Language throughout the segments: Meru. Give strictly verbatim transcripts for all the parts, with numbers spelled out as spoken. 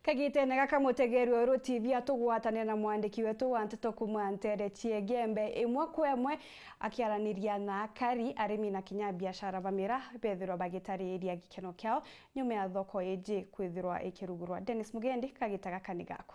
Kagitene gaka, mutegeri wa Uru T V atugwatanira na mwandiki wetu wa nteto kuuma ntere cia Igembe, imwe kwa imwe akiaraniria na akari, arimi na kinya biashara ba miraa bethirwa bagitariria gikeno kiao nyuma ya thoko iji kwithirwa ikirugurwa. Dennis Mugendi, kagita gaka ni gaku.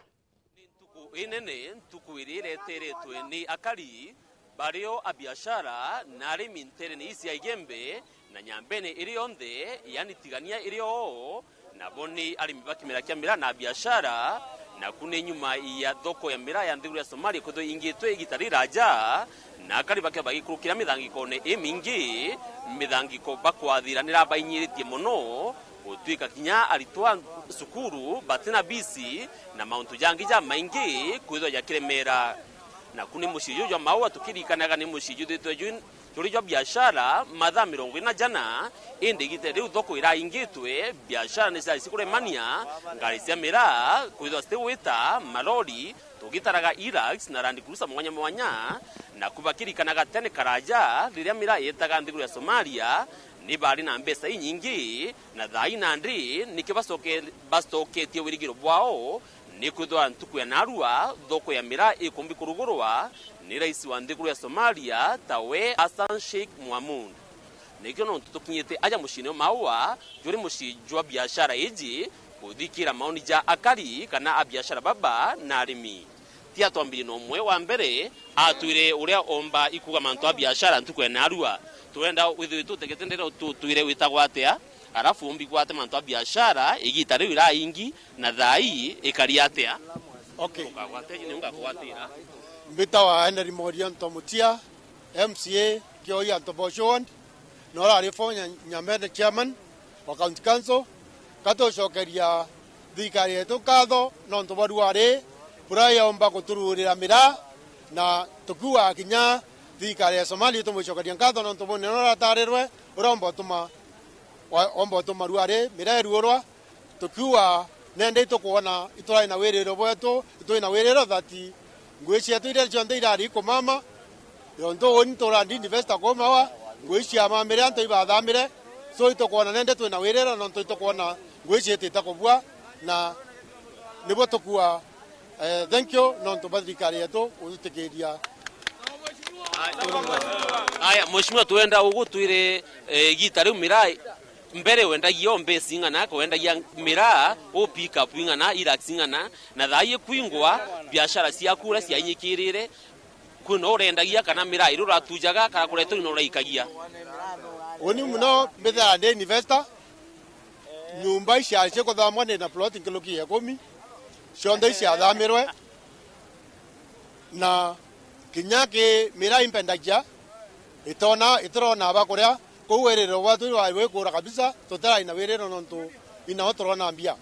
Ni ntuku inene, ntuku iria ireteretwe ni akari, bario abiashara na arimi nterene ii cia Igembe na Nyambene iri yonthe, yani Tigania iri oo, nabo ni arimi ba kimera kia miraa na abiashara, naku ni nyuma ya thoko ya miraa ya nthiguru ya Somalia kwithirwa ingitwe igita riraja, na akari bakio bagikurukira mithangikone imingi, mithangiko bakwathiranira bainyiritie mono, gutwika kinya aritwa cukuru batina bisi na mauntu jangi jamaingi kwithirwa jakiremera. Naku ni mucii juju jwa Maua, tukiririkanaga ni mucii juthitwe jwi-, juri jwa biashara mathaa mirongo ina jana, indi igita riu thoko iraingitwe, biashara ni ciaisi kuremania, ngari cia miraa kwithirwa citigwita, malori, tugitaraga Hilux na Land Cruiser mwanya mwanya, naku bakiririkanaga tene karaja, riria miraa yetaga nthiguru ya Somalia, ni bari na mbeca inyingi, na thaa ii nandi nikio bacoke-, bacoketie wirigiro bwao, ni kwithirwa ntuku ya narua thoko ya miraa ikumbi kurugurwa ni rais wa nthiguru ya Somalia, tawe Hassan Sheikh Mohamud. Nikio nontu tukinyite aja muciine o Maua, juri mucii jwa biashara iji, kuthikira maoni ja akari kana abiashara baba na arimi. Tia twambirie na umwe wa mbere, atwire uria omba ikuga mantu a biashara ntuku ya narua. Twenda withirwe tutegete ndero, tutwire witagwa atia, arafu umbi gwate mantu a biashara igita riu iraingi, na thaa ii ikari atia? Okay. Ukagwate ni ungakugwatira. Mbitawa Henry Moria Ntomutia, M C A Kioya Ntobocho Ward, na urari former Nya-, Nyambene chairman wa County Council. Katucokeria thirikari yetu nkatho nontu bwa ruari buria yomba gutururira miraa, na tukiuga kinya thirikari ya Somalia itumwicokeria nkatho nontu bwa unene uria uratarirwe, uria omba utuma, wa-, omba utuma ruari miraa iruurwa. Tukiuga nende itukwona iturari na wiriro bwetu, ituri na wiriro that ngui cietu iria cionthe irari kumama, yontu uni turandi investor kuu Maua, ngui ciamamire antu ibathamire. So itukwona nende turi na wiriro nontu itukwona ngui ciitite kubua, na nibwo tukuuga, eh, thank you nontu bwa thirikari yetu gutwitikiria. Aya, Mheshimiwa, twenda ugutwire, eh, igita riu miraa mbere wendagia o mbesi ing'ana, ka wendagia miraa u pick up ing'ana, Hilux ing'ana, na thaa ii ikwingwa, biashara ciaku uria ciainyikirire, kwina urendagia kana miraa iria uratujaga kana kuretwa ino uraikagia? Uni muno mbithaga ndi investor, nyumba iciari cikuthamwa ndi na plot nkuruki ya ikumi, cionthe iciathamirwe. Na kinya ki miraa impendagia, itona, itirona ba kuria, kou wiriro bwatu rwari wikura kabisa, tutirai na wiriro nontu inao turona mbia.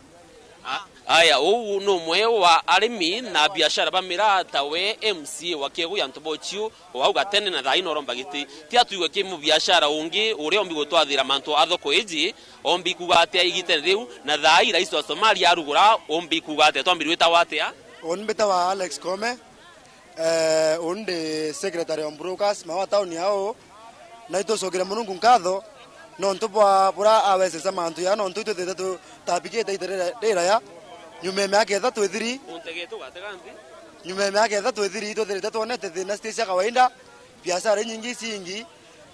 A-, aya, uu ni umwe wa arimi na biashara ba miraa tawe M C A wa Kiegu ya Ntobocho, o au gatene na thaa ii noromba giti. Tia twigwe ki mubiashara ungi uria ombi gutwathira mantu a thoko iji, ombi kuuga atia igitene riu, na thaa ii rais wa Somalia arugura, ombi kuuga atia? Twambiri witawa atia? Uni mbitawa Alex Kome. Eh, uni ndi secretary wa brokers, Maua town yao, na itucokere Murungu nkatho, nontu bwa buria aweseca mantu ya, nontu itwithirite tutabikite ita rira-, riraya, nyuma ya miaka ithatu ithiri. Untegete ugatega nthi. Nyuma ya miaka ithatu ithiri, itwithirite twonete thina citi cia kawaida, biashara inyingi icingi,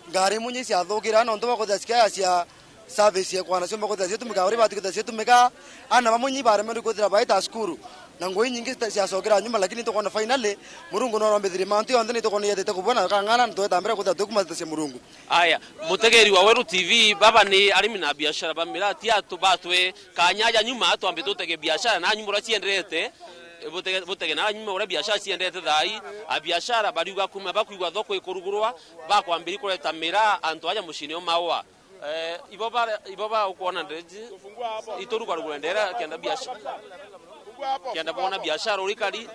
ngari imwe inya iciathukira, nontu bwa kwithira cikiaya cia service ya kwana cio mbakwithira ciatumika, uri bati kwithira ciatumika, ana bamwe inya ibaremerwe kwithira baita cukuru, na ngui inyingi cita-, ciacokera nyuma, lakini tukwona finally, Murungu norombithirie mantu yonthe, ni tukwona yetete kubua na kang'ana, na tweta mbere kwithira tukuma ndeto cia Murungu. Aya, mutegeri wa Weru T V, baba ni arimi na biashara ba miraa, tia tubatwe kanya aja nyuma, twambe tutege biashara na nyuma uria cienderete, butege, butege na nyuma uria biashara cienderete thaa ii, a biashara bariuga kuma bakwigua thoko ikurugurwa, bakwambiri kureta miraa antu aja muciine o Maua. Eh, ibo ba, ibo ba ukwona ndeji, iturugarugure ndera kenda biashara. Kenda bona biashara urikari.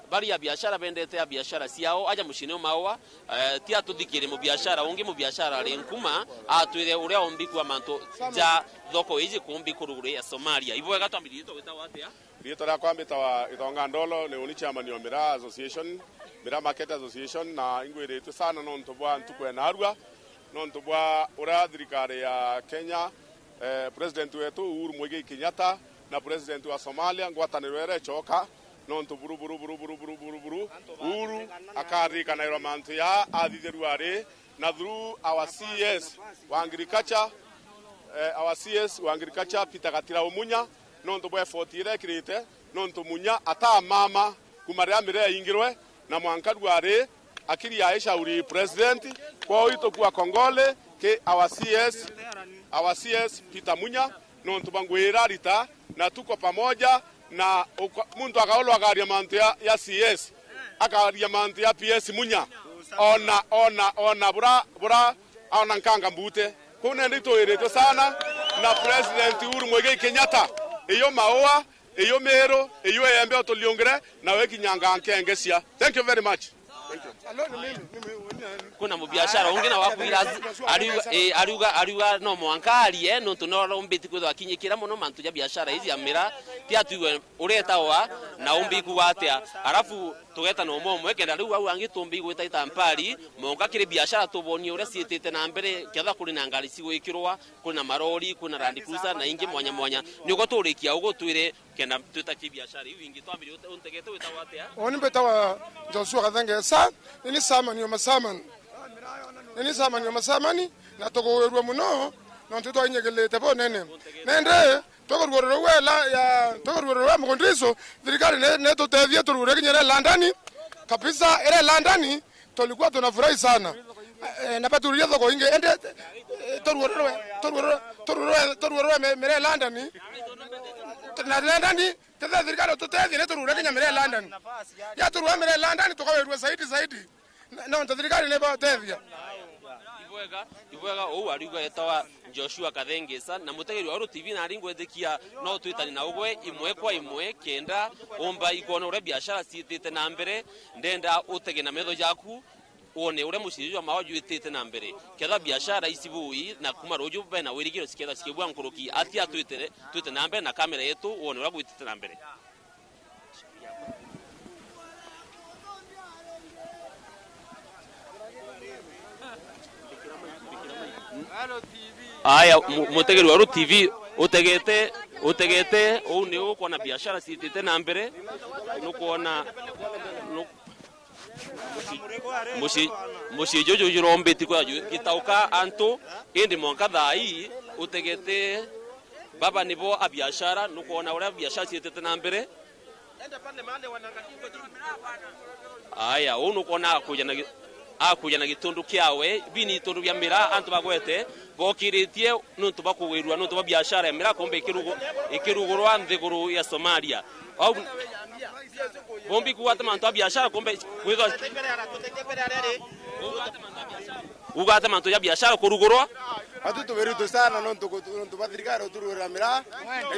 Bari a biashara bendete a biashara ciao, aja muciine o Maua, eh, tia tuthikire mubiashara ungi, mubiashara ari nkuma, atwire uria ombi kwa mantu ja thoko iji kumbi kuruguru ya Somalia. Ibo wega twambiririe twita watia? Riitwa riakwa mbitawa Gitonga Ndolo, ni uni chairman wa Miraa Association, Miraa Market Association, na ingwiritue sana nontu bwa ntuku ya narua, nontu bwa uria thirikari ya Kenya, Eh, President wetu Uhuru Muigai Kenyatta na President wa Somalia, ngwataniro iria icoka, nontu buru, buru, buru, Uhuru akaririkanairwa mantu ya athithirua ari, na through our C S wa agriculture, eh, our C S wa agriculture, Peter Gatira Umunya, nontu bwa effort iria ekirite, nontu Munya atamama kuma riria miraa yaingirwe, na mwanka rua ri akiri ya ishauri president. Kwou itukua kongole ki our C S, our C S Peter Munya, nontu bwa ngugi iria arita, na tuko pamoja, na uko-, muntu akaulwa akaria mantu ya, ya C S, akaria mantu ya P S Munya, ona, ona, ona bura, bura, ona nkanga mbute. Kuu nende itwiritwe sana na President Uhuru Muigai Kenyatta, iyo maua, iyo miru, iyo iembe utuliungire, na wikinyanga nkengecia. Thank you very much. Kwina mubiashara ungi na wakwira, ariuga, eh, ariuga, ariuga no mwanka arie, nontu no arombiti kwithwa akinyikira mono mantu ja biashara iji ya miraa, ti atwigwe uretawa na umbi kuga atia. Arafu tugeta na umwe umwe, kenda riu au angi tumbi gwita ita mpari, mwanka kiri biashara tubonie uria ciitite na mbere, ketha kuri na ngari cigwikirwa, kwina marori, kwina Land Cruiser na ingi mwanya mwanya. Niguo turikia ugu twire kenda twita ki biashara iu ingi twambirie ute-, untegete witagwa atia? Uni mbitawa Joshua Kathengesa, nini chairman wa machairman. Nini chairman wa machairman, na tugwirua mono, nontu twainyigilite bunene. Nende, tukurugurura rwa la-, ya, tukurugurura rwa mugundiso, thirikari ne, ne tutethie turugure kinya ire London, kabisa, ire London, tulikuwa tunafurahi sana. Eh, na batururia thoko ingi, ende, eh, turugururwe, turugururwe, turugururwe, turugururwe me-, mire London. Na London, tethe thirikari tutethie, ni turugure kinya mire London. Ya turugururwe mire London, tukawirua zaidi, zaidi. Na, nontu thirikari ni batethia. Ibwega, ibwega, uu ariuga etawa Joshua Kathengesa, na mutegeri wa Uru T V nari ngwetikia no twitani na ugwe imwe kwa imwe, kenda umba ikwona uria biashara ciitite na mbere. Ndenda utege na metho jaku, wone uria mucii jwa maua jwitite na mbere. Ketha biashara ici bui, na kuma ruju bena wirigiro ciketha cikibua nkuruki, atia twite, twite na mbere na kamera yetu, wone uria gwitite na mbere. Aya, mu-, mutegeri wa Uru T V, utegete, utegete, uu ni ukwona biashara ciitite na mbere, nukwona, nu-, mucii, mucii juju jurombiti kwa ju-, gitauka antu, indi mwanka thaa ii, utegete, baba nibo a biashara, nukwona uria biashara ciitite na mbere. Aya, uu nukwona akuja na gi-, akuja na gitundu kiawe, bini itundu bia miraa antu bagwete, bokiritie nuntu bwa kugwirua, nuntu bwa biashara ya miraa kumbe ikirugu-, ikirugurwa nthiguru ya Somalia. Au, bombi kuuga ati mantu a biashara kumbe kwithwa Uga ati mantu ja biashara kurugurwa? Atu tubiritwe sana nontu ku-, nontu bwa thirikari uturugurira miraa,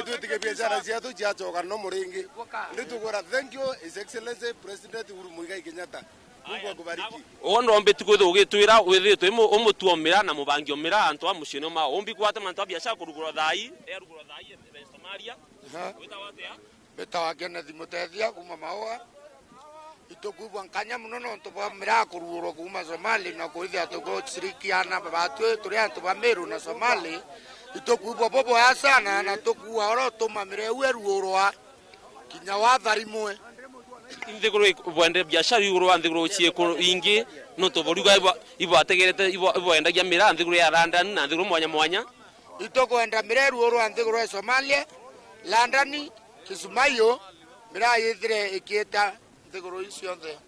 itwitikia biashara cietu ciacoka no muringi. Ndi tugwira thank you, His Excellency President Uhuru Muigai Kenyatta. Mungu akubariki. Ugo ndombi tu kwithwa ugitwira withitwe umu-, umutua miraa na mubangi o miraa antu a muciini mao. Umbi kuuga ati mantu a biashara kurugurwa thaa ii, erugurwa thaa ii, e Somalia. Aha. Witawa atia? Mbitawa Kenneth Mutethia kuuma Maua. Itukwigua nkanya mono nontu bwa miraa kurugurwa kuuma Somali na kwithia tugucirikiana batwi turi antu ba Meru na Somali. Itukwigua buboya sana na tukuua oro tuma miraa iu irugurwa kinya watharimwe. Nthiguru ik-, bwende biashara iguru wa nthiguru ciikuru ingi nontu buriuga ibo-, ibategerete, ibo-, iboendagia miraa nthiguru ya London na nthiguru mwanya mwanya. Itukwenda miraa irugurwa nthiguru ya Somalia, London, Kismayo, miraa yithire ikiita nthiguru iu cionthe.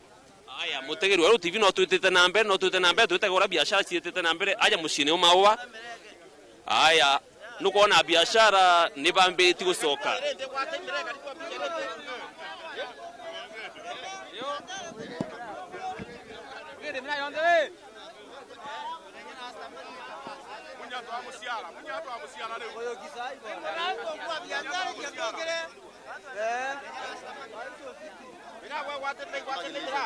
Aya, mutegeri wa Uru T V no twitite na mbere, no twitite na mbere, twitege uria biashara ciitite na mbere, aja muciini u Maua. Aya, nukwona biashara ni bambiritie gucoka. Munya twamuciara, munya twamuciara riu. Ira gwe gwatirira, igwatirira.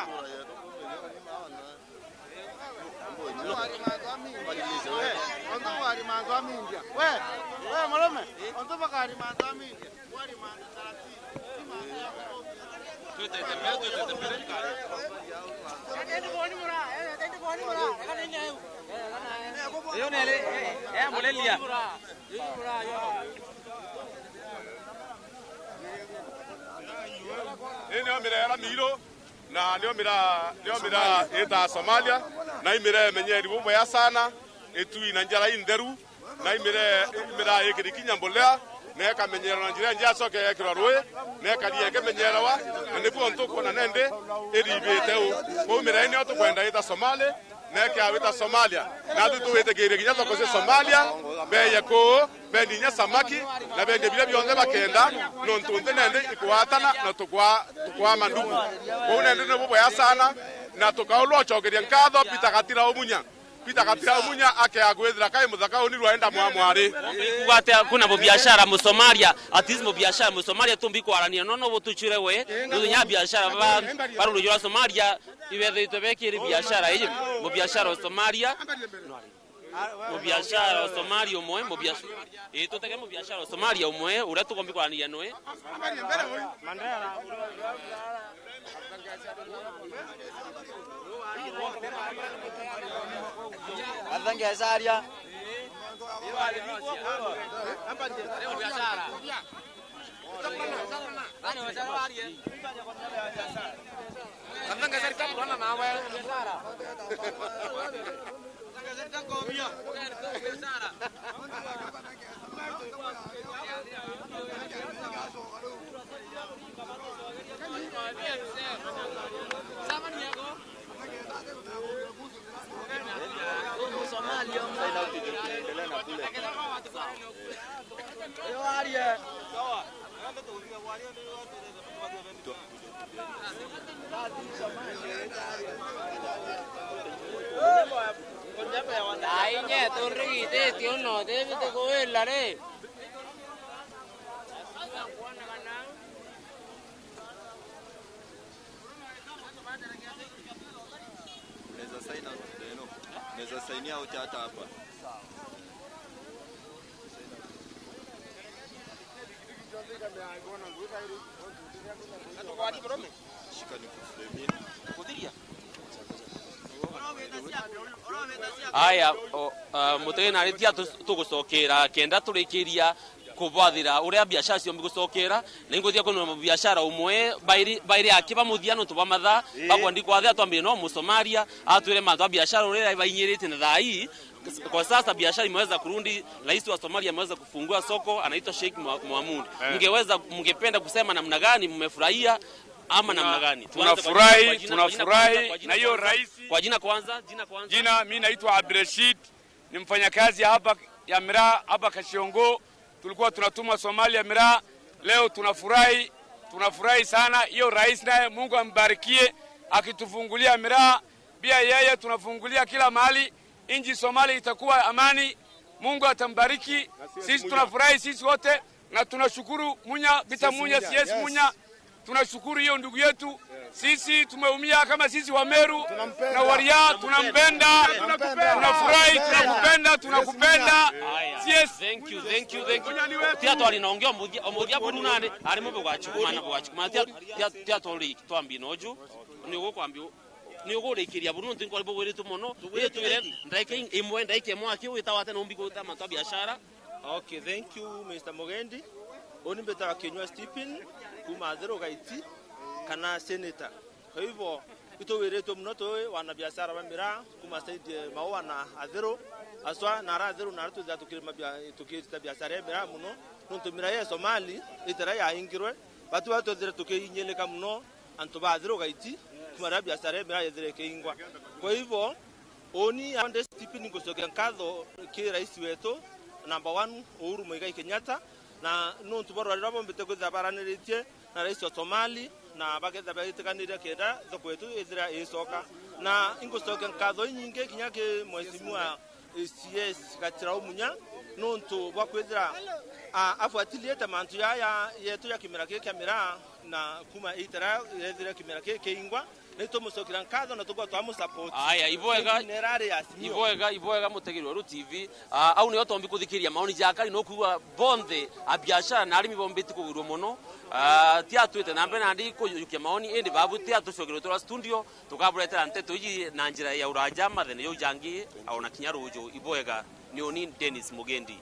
Ontu bwari mantu a mindia. We, we murume, ontu bwari mantu a mindia. Bwari mantu taratibu. Twitete mbere, twitete mbere. Uyu ni ri, eh, eh, mureria. Ii nio miraa iria miiru, na nio miraa, nio miraa itaa Somalia, na i miraa imenyeri bubwega sana, itui na njara intheru, na i miraa, i miraa ikiri kinya mbolea, na ikamenyererwa na njira injega, icoke yekirwa rui, na ikaria ikimenyerewa, na nibu untu ukwona nandi iribite uu. Kwou miraa ii nio tukwenda ita Somali, na ikiawita Somalia. Natwi tuwitikirie kinya thoko cia Somalia, beye kuu, bendi inya samaki, na bendie biria bionthe bakenda, nontu nthi nandi ikwatana na tukwa-, tukwaa mandugu. Kwou nandi ni bubwega sana, na tukaulwa ucokeria nkatho Peter Gatira Umunya. Peter Gatira Umunya akea kwithira kai muthaka uni rwaenda mwamwari. Kuuga atia kwina mubiashara Musomalia, at least mubiashara Musomalia tumbi kwarania, no, no butuchure we, muthenya biashara ba, ba ruriji rwa Somalia, ibethiritwe bekiri biashara iji, mubiashara wa Somalia, mubiashara wa Somalia umwe, mubiashara, ii, tutege mubiashara wa Somalia umwe, uria tukombi kwaraniria nui. Athangecaria. Ai, nye, tundrigithitie uno, utibite kuwila ri? Unaweza sign out, no? Unaweza sign out hata hapa. Shika nikufremie. Aya, o, a, mutegeni na aritia tu-, tugucokera kenda turikiria kubwathira uria biashara ciombi gucokera, na ingwithia kwina biashara umwe bairi, bairi aki bamuthia nontu bwa mathaa, ii, bakwa ndikwathira twambire no Musomalia, atwire mantu a biashara uria bainyirite na thaa ii. Kwa sasa biashara imeweza kurudi, rais wa Somalia ameweza kufungua soko, anaitwa Sheikh Mo-, Mohamud. Eh. Mngeweza, mngependa kusema namna gani mmefurahia ama namna gani? Tuanze kwa jina, kwa jina, kwa jina, kwa jina, kwa jina kwanza, jina kwanza. Jina, mi naitwa Abdrashid. Ni mfanyakazi ya hapa, ya miraa hapa Kashiongo. Tulikuwa tunatumwa Somalia miraa. Leo tunafurahi, tunafurahi sana. Hiyo rais naye Mungu ambarikie akitufungulia miraa. Pia yeye tunafungulia kila mahali. Nchi Somalia itakuwa amani. Mungu atambariki. Sisi tunafurahi sisi wote. Na tunashukuru Munya, Peter Munya, C S Munya. Tunashukuru hiyo ndugu yetu. Sisi tumeumia kama sisi wa Meru na Waria, tunampenda. Tunafurahi, tunakupenda, tunakupenda. Haya. C S. Thank you, thank you, thank you. Tia twari na ungi omuthia, omuthia buru nani, ari mu bugachukuma na bugachukuma. Tia, tia, tia twari twambi noju. Ni ugukwambi, ni ugurikiria buru nontu nkwari bugwiritwe mono. Ri twire ndaika imwe, ndaika imwe aki wita wate na umbi gwita mantu a biashara. Okay, thank you, Mister Mugendi. Uni mbitaga Kinyua Stephen, kuma Athiru Gaiti, kana Senator. Kwa hivyo, ituwiritwe muno twi wanabiashara ba miraa, kuma side ya Maua na Athiru, aswa na ara Athiru, na ara twithira tukirima bia-, tukirita biashara ya miraa muno, nontu miraa ya Somali, itira yaingirwe, batu batwethire tukiinyilika muno, antu ba Athiru Gaiti, kuma riria biashara ya miraa yethire ikiingwa. Kwa hivyo, uni ande Stephen ngucokia nkatho ki rais wetu number one, Uhuru Muigai Kenyatta, na nontu bwa rwari ruria bombite kwithira baraniritie na rais wa Somali, na bakethira baitikaniria kenda thoko yetu ithira iicoka. Na ingucokia nkatho inyingi kinya ki mheshimiwa C S Gachira Umunya, nontu bwa kwithira, a, afuatiliete mantu yaya yetu ya kimera kii kia miraa, na kuma itara yethire kimera kii kiingwa, Ni tumucokera nkatho na tukorwa twamusupport. Aya, ibwega. Nera ari Azimio. Ibwega, ibwega, mutegeri wa Ruti T V. Ah, au nio tombi kuthikiria maoni ja Akari, no kuigua bonthe abiashara na arimi bombiti kugwirua mono. Ah, ti atwite na mbere nandi kujukia maoni, indi babu ti atucokere twa studio, tukaburetera nteto iji na njira ya uraja mathene jau jangi, ona kinya ruju. Ibwega, ni uni Dennis Mugendi.